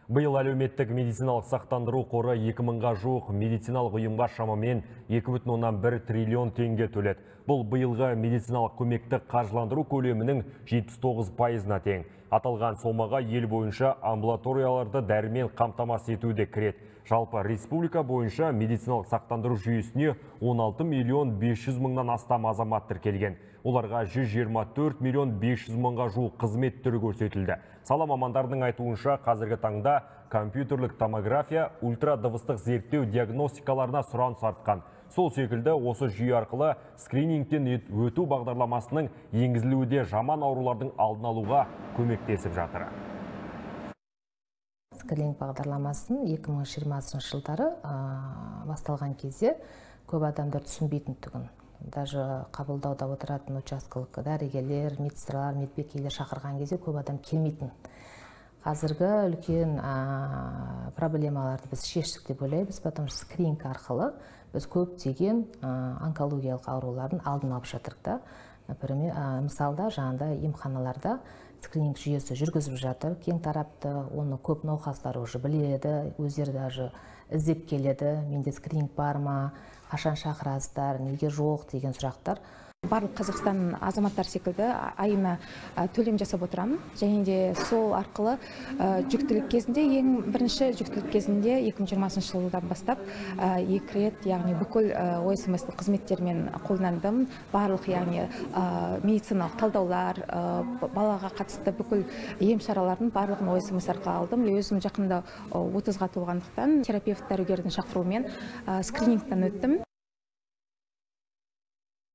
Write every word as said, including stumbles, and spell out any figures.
Биыл әлеуметтік медициналық сақтандыру қоры екі мыңға жуық медициналық ұйымға шамамен екі бүтін оннан бір триллион теңге төледі. Бұл биылғы медициналық көмекті қаржыландыру көлемінің жетпіс тоғыз пайызына тең. Аталған сомаға ел бойынша амбулаторияларды дәрімен қамтамасыз етуде кіреді. Жалпы республика бойынша медициналық сақтандыру жүйесіне он алты миллион бес жүз мыңнан астам азамат тіркелген. Оларға жүз жиырма төрт миллион бес жүз мыңға жуық қызмет түрі көрсетілді. Сала мамандарының айтуынша қазіргі таңда компьютерлік томография, ультрадыбыстық зерттеу диагностикаларына сұраныс артқан. Сол секілді осы жүйе арқылы скринингтен өту бағдарламасының енгізілуде жаман аурулардың алдын алуға көмектесіп жатыр. Скрининг бағдарламасын екі мың жиырмасыншы жылдары басталған кезде көп адамдар түсінбейтін түгін. Даже қабылдауда отыратын учаскалық дәрігерлер, медсестралар, медбикелер шақырған кезде көп адам келмейтін. Қазіргі үлкен проблемаларды біз шештік деп ойлаймыз, потому что скрининг арқылы біз көптеген онкологиялық аурулардың алдын алып жатырмыз да. Например, мысалда жаңағыдай емханаларда скрининг жүйесі жүргізіп жатыр, кең тарапты, оны көп науқастар уже біледі, өздері даже іздеп келеді, менде скрининг бар ма, қашан шақырасыздар, неге жоқ деген сұрақтар. Барлық Қазақстан азаматтар секілді айына төлем жасап отырамын. Және де сол арқылы жүктілік кезінде, ең бірінші жүктілік кезінде екі мың жиырмасыншы жылдан бастап екі рет, яғни бүкіл о эс эм эс қызметтермен қолдандым. Барлық, яғни медициналық талдаулар, балаға қатысты бүкіл ем шаралардың барлығын о эс эм эс арқылы алдым. Өзім жақында отызға толғандықтан терапевт дәрігердің шақыруымен скринингтен өттім.